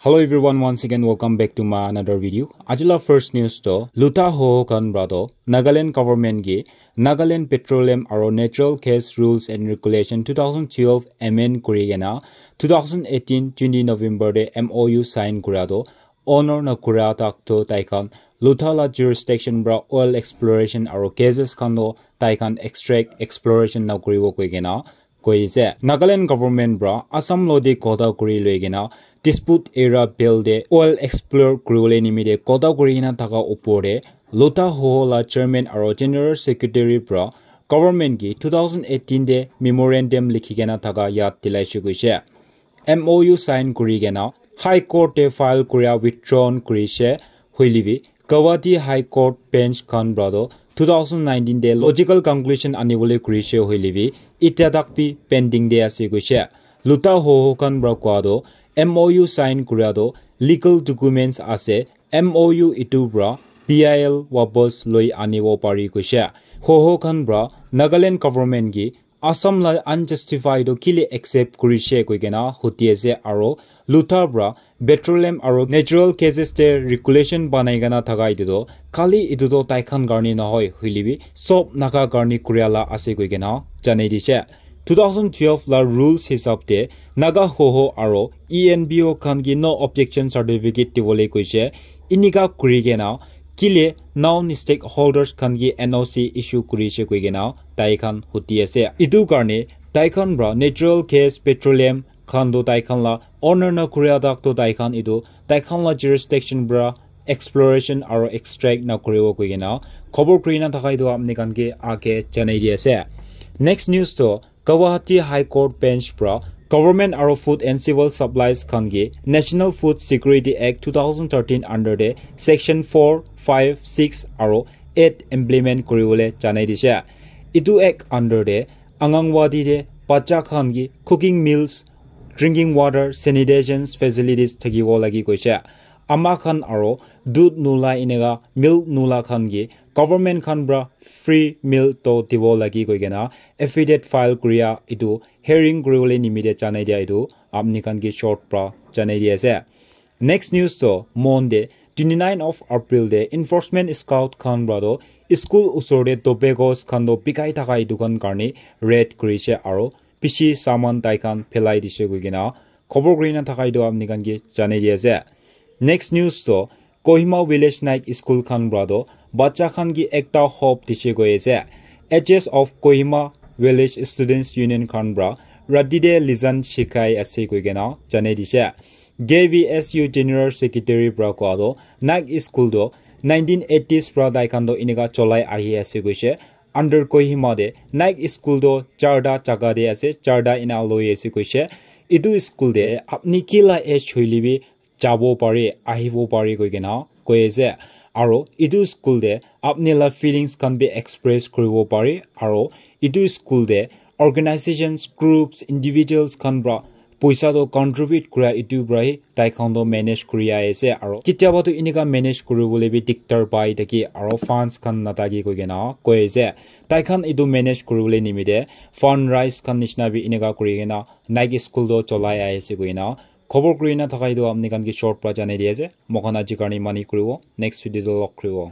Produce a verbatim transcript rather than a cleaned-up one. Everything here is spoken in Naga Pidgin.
Hello everyone, once again welcome back to my another video. Ajila first news to Luta Hoho khan bra to Nagaland government gi Nagaland Petroleum aro Natural Gas Rules and Regulation two thousand twelve amend kuri kena two thousand eighteen twenty November de M O U sign kura to honor na kura tak to tai khan Luta la jurisdiction bra oil exploration aro gases khan to tai khan extract exploration na kuribo koi kena koi ase. Nagaland government bra Assam lo de kota kuri loi kena dispute era bill de oil explore kuri bole nimite kota kuri kena thaka upor de Luta Hoho la chairman aro general secretary bra government ki two thousand eighteen de memorandum likhi kena thaka yad dilai shi koise. M O U sign kuri kena High Court te file kuria withdrawn kurishe hoile bi Guwahati High Court bench khan bra to two thousand nineteen te logical conclusion anibole kurishe hoile bi itya tak bi pending de ase koishe. Luta Hoho khan bra koa to M O U sign kuria to legal documents ase, M O U itu bra P I L wapas loi anibo pari koishe. Hoho khan bra Nagaland government ki Assam la unjustified to kile accept kurishe koi kena huti ase aro Luta bra petroleum aro natural gases te regulation banai kena thaka itu to khali itu to tai khan karni nohoi hoile bi sob Naga karni kuria la ase koi kena janai dishe. Two thousand twelve la rules hisab te Naga Hoho aro E N P O khan ki no objection certificate dibole koishe. Inika kuri kena kile non stakeholders khan ki N O C issue kurishe koi kena tai khan huti ase. Itu karne tai khan bra natural gas, petroleum khan to tai khan la honor na kuria tak to tai khan itu tai khan la jurisdiction bra exploration aro extract na kuribo koi kena khobor kuri na thaka itu apni khan ke age janai di ase. Next news to Guwahati High Court bench pra government aro food and civil supplies khan ke National Food Security Act two thousand thirteen under de section four, five, six aro eight implement kuribole janai dise. Etu act under de Anganwadi de bacha khan ke cooking meals, drinking water, sanitation facilities thakibo lagi koise. Ama khan aro dudh nula eneka milk nula khan ke government khan pra free meal to dibo lagi koi kena affidavit file kuria etu hearing kuribole nimite janai dia etu apni khan ke short pra janai di ase. Next news to Monday twenty nine of April de enforcement scout khan pra to school usor de tobacco khan to bikai thaka etu khan karne raid kurise aro bishi saman tai khan phelai dise koi kena khobor kuri na thaka etu apni khan ke janai di ase. Next news to Kohima Village Night School khan pra to bacha khan ke ekta hope dise koi ase. H S of Kohima Village Students Union khan pra rati de lijan shikai ase koi kena janai dise. K V S U General Secretary pra koa to night school to nineteen eighties pra tai khan to eneka cholai ahi ase koise. Under Kohima de night school to charta jaga de ase, charta ena loi ase koise. Etu school de apni kila age hoile bi jabo pare, ahibo pare koi kena koi ase. Aro etu school de apni la feelings khan bi express kuribo pare. Aro etu school de organizations, groups, individuals khan pra poisa to contribute kura etu pra hi tai khan to manage kuri ahi ase. Aro ketiaba to eneka manage kuribole bi diktar pai thaki aro funds khan nathaki koi kena koi ase. Tai khan etu manage kuribole nimite fundraise khan nishina bi eneka kuri kena night school to cholai ahi ase koi kena khobor kuri na thaka etu apni khan ke short pra janai di ase. Moikhan aji karne mani kuribo, next video to log kuribo.